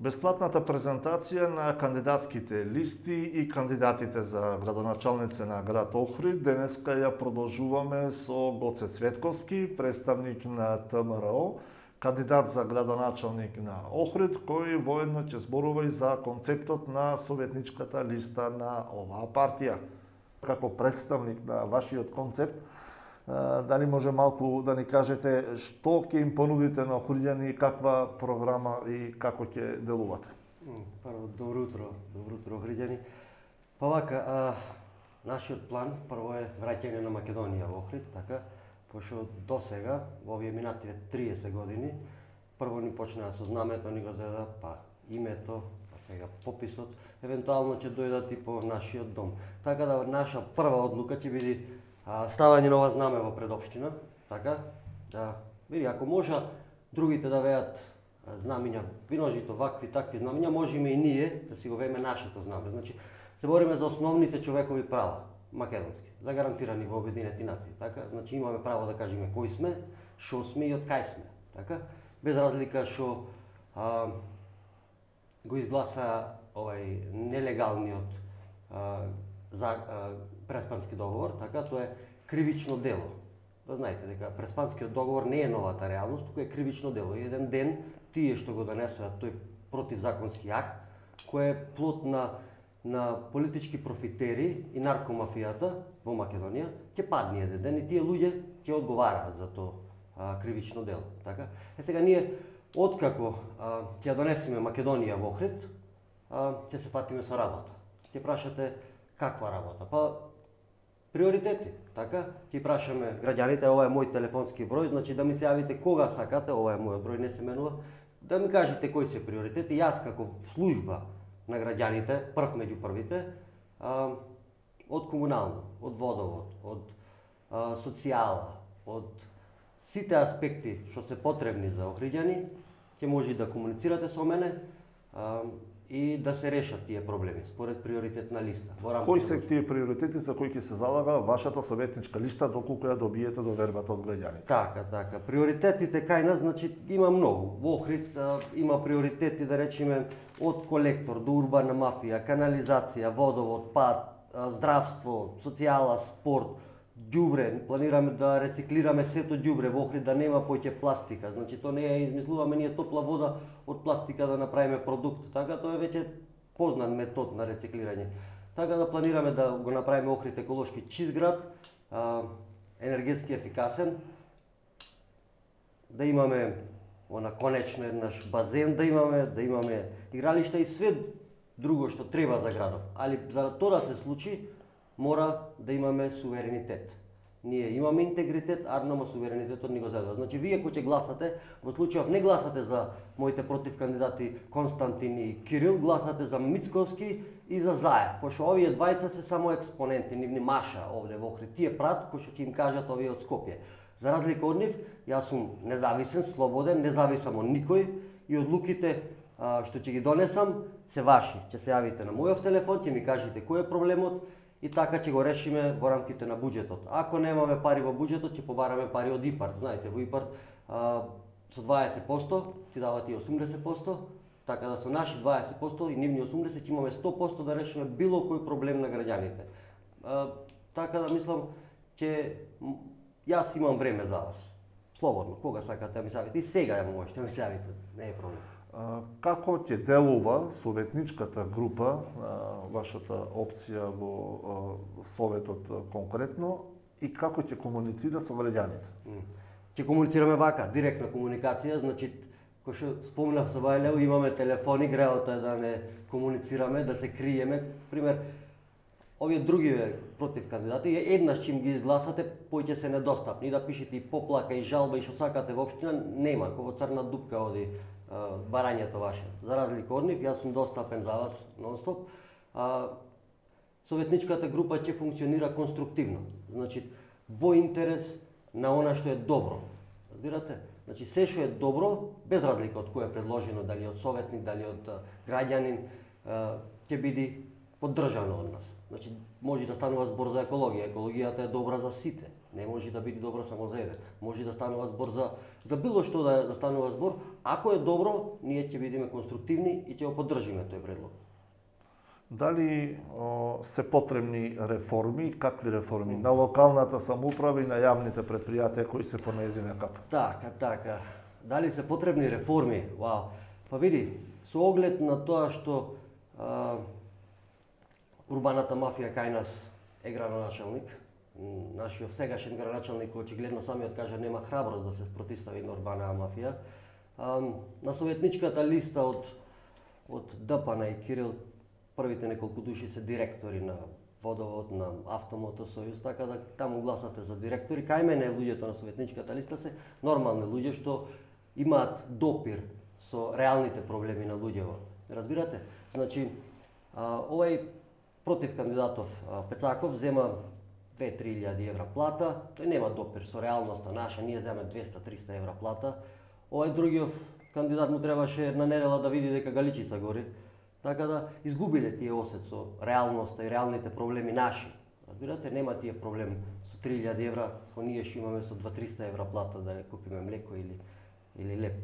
Бесплатната презентација на кандидатските листи и кандидатите за градоначалници на град Охрид денеска ја продолжуваме со Гоце Цветковски, представник на ТМРО, кандидат за градоначалник на Охрид, кој воедно ќе зборува и за концептот на советничката листа на оваа партија. Како представник на вашиот концепт, дали може малку да ни кажете што ќе им понудите на охриѓани, каква програма и како ќе делувате? Прво, добро утро охриѓани. Па вака, нашиот план прво е враќање на Македонија во Охрид, така, пошто до сега, во овие минативе 30 години, прво ни почнаа со знамето, ни го зеда, па името, па сега пописот, евентуално ќе дојдат и по нашиот дом. Така да наша прва одлука ќе биде ставање на ова знаме во предопштина, така, да види, ако може другите да веат знамиња, виножито вакви, такви знамиња, можеме и ние да си го вееме нашето знаме. Значи, се бориме за основните човекови права, македонски, загарантирани во Обединети нации, така, значи имаме право да кажеме кој сме, шо сме и од кај сме, така, без разлика шо го изгласа овај нелегалниот Преспански договор, така, тоа е кривично дело. Да знаете дека Преспанскиот договор не е новата реалност, туку е кривично дело. И еден ден тие што го донесоа тој противзаконски акт, кој е плод на политички профитери и наркомафијата во Македонија, ќе падне еден ден и тие луѓе ќе одговараат за тоа кривично дело, така. Сега ние откако ќе ја донесеме Македонија во Охрид, ќе се фатиме со работа. Ќе прашате каква работа? Па приоритети, така? Ќе прашаме граѓаните, ова е мој телефонски број, значи да ми се јавите кога сакате, ова е мојот број, не се менува, да ми кажете кои се приоритети. Јас како служба на граѓаните, прв меѓу првите, од комунално, од водовод, од социјала, од сите аспекти што се потребни за охриѓани, ќе може да комуницирате со мене и да се решат тие проблеми според приоритетна листа. Кои се тие приоритети за кои ќе се залага вашата советничка листа доколку ја добиете довербата од граѓаните? Така. Приоритетите кај нас, значи, има многу. Во Охрид има приоритети, да речеме, од колектор до урбана мафија, канализација, водовод, пат, здравство, социјала, спорт, ѓубре. Планираме да рециклираме сето ѓубре во Охрид, да нема поќе пластика. Значи, тоа не е измислуваме ние топла вода од пластика да направиме продукт. Така, тоа е веќе познат метод на рециклирање. Така да планираме да го направиме Охрид еколошки чист град, енергетски ефикасен, да имаме конечно еднаш базен, да имаме игралишта и све друго што треба за градов. Али за тоа да се случи, мора да имаме суверенитет. Ние имаме интегритет, арнама суверенитетот ни го задава. Значи, вие кои ќе гласате, во случајов не гласате за моите противкандидати Константин и Кирил, гласате за Мицковски и за Заев, пошто овие двајца се само експоненти, нивни маша овде во Охрид. Тие прат кои што ќе им кажат овие од Скопје. За разлика од нив, јас сум независен, слободен, не зависам од никој и одлуките што ќе ги донесам се ваши. Ќе се јавите на мојов телефон, ќе ми кажете кој е проблемот, и така ќе го решиме во рамките на буџетот. Ако немаме пари во буџетот, ќе побараме пари од ИПАРТ. Знаете, во ИПАРТ со 20% ти дават и 80%, така да со наши 20% и нивни 80% ќе имаме 100% да решиме било кој проблем на граѓаните. Така да мислам, јас имам време за вас. Слободно, кога сакате да ми се јавите. И сега ја можете да ми се јавите, не е проблем. Како ќе делува советничката група, вашата опција во советот конкретно, и како ќе комуницира со граѓаните? Ќе комуницираме вака, директна комуникација, значи, кој што спомнав со Бајлео, имаме телефони, греото е да не комуницираме, да се криеме. Пример, овие другиве против кандидати, еднаш чим ги изгласате, поќе се недостапни, да пишете и поплака, и жалба, и што сакате во општина, нема, како во црна дупка оди барањето ваше. За разлика од нив, јас сум достапен за вас нон-стоп. Советничката група ќе функционира конструктивно, значи во интерес на она што е добро. Разбирате? Значи се што е добро, без разлика од кој е предложено, дали од советник, дали од граѓанин, ќе биде поддржано од нас. Значи може да станува збор за екологија. Екологијата е добра за сите. Не може да биде добро само за еден. Може да станува збор за било што да станува збор. Ако е добро, ние ќе бидеме конструктивни и ќе го поддржиме тој предлог. Дали се потребни реформи, какви реформи на локалната самоуправа и на јавните предпријатија кои се по нејзина капа? Така. Дали се потребни реформи? Вау. Па види, со оглед на тоа што урбаната мафија кај нас е градоначалник, нашиот сегашен градоначалник очигледно самиот кажа нема храброст да се спротивстави на урбана мафија. На советничката листа од ДПН и Кирил првите неколку души се директори на Водовод, на Автомотосојуз, така да таму гласате за директори. Кај мене луѓето на советничката листа се нормални луѓе што имаат допир со реалните проблеми на луѓево. Разбирате? Значи, овај против кандидатов Пецаков зема 2-3 евра плата, тој нема допир со реалноста наша, ние земаме 200-300 евра плата. Овај другиот кандидат му требаше една недела да види дека Галичица гори, така да изгубиле тие осет со реалноста и реалните проблеми наши. Разбирате, нема тие проблем со 3000 евра, кој ние што имаме со 2-300 евра плата да купиме млеко или леп.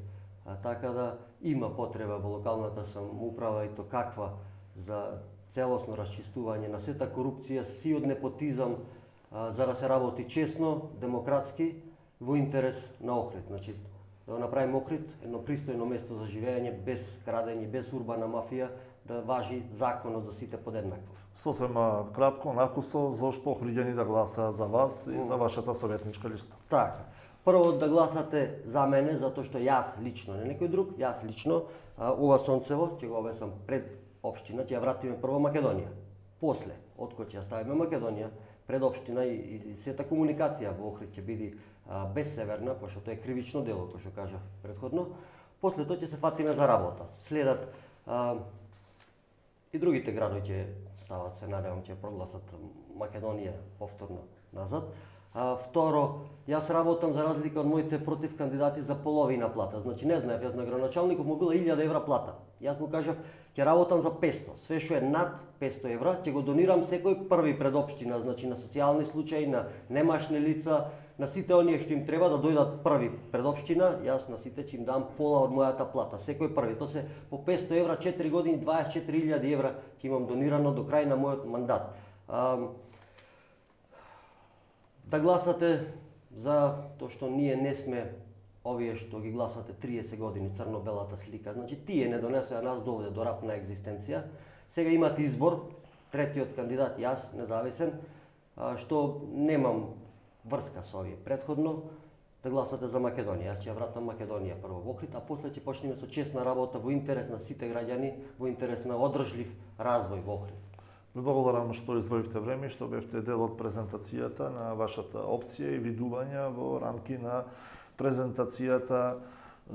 Така да има потреба во локалната самоуправа и то каква за целосно расчистување на сета корупција, сиот непотизам, за да се работи честно, демократски, во интерес на Охрид. Значи, да направиме Охрид едно пристојно место за живење, без крадење, без урбана мафија, да важи законот за сите подеднакво. Сосем кратко, накусо, зошто охриѓани да гласаат за вас и за вашата советничка листа? Така. Прво да гласате за мене, затоа што јас лично, не некој друг, јас лично, ова Сонцево, ќе го обесам пред општина, ќе ја вратиме прво Македонија. После, откој ќе ја ставиме Македонија, пред општина и сета комуникација во Охрид ќе биде безсеверна, пошто тоа е кривично дело, кој што кажав претходно. После тоа ќе се фатиме за работа. Следат и другите градови ќе стават, се надевам, ќе прогласат Македонија повторно назад. Второ, јас работам за разлика од моите против кандидати за половина плата. Значи не знаев, јас на градоначалников му била 1000 евра плата. Јас му кажав, ќе работам за 500. Све што е над 500 евра, ќе го донирам секој први пред општина, значи на социјални случаи, на немашни лица, на сите оние што им треба да дојдат први пред општина, јас на сите ќе им дам пола од мојата плата. Секој први, тоа се по 500 евра, 4 години, 24.000 евра ќе имам донирано до крај на мојот мандат. Да гласате за тоа што ние не сме овие што ги гласате 30 години црно-белата слика. Значи тие не донесоа нас довде до рап на екзистенција. Сега имате избор, третиот кандидат јас, независен, што немам врска со овие претходно, да гласате за Македонија. Јас ќе ја вратам Македонија прво во Охрид, а после ќе почнеме со честна работа во интерес на сите граѓани, во интерес на одржлив развој во Охрид. Ви благодарам што извоивте време и што бевте дел од презентацијата на вашата опција и видувања во рамки на презентацијата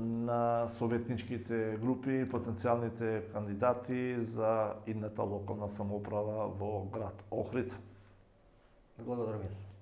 на советничките групи и потенцијалните кандидати за идната локална самоуправа во град Охрид. Благодарам јас.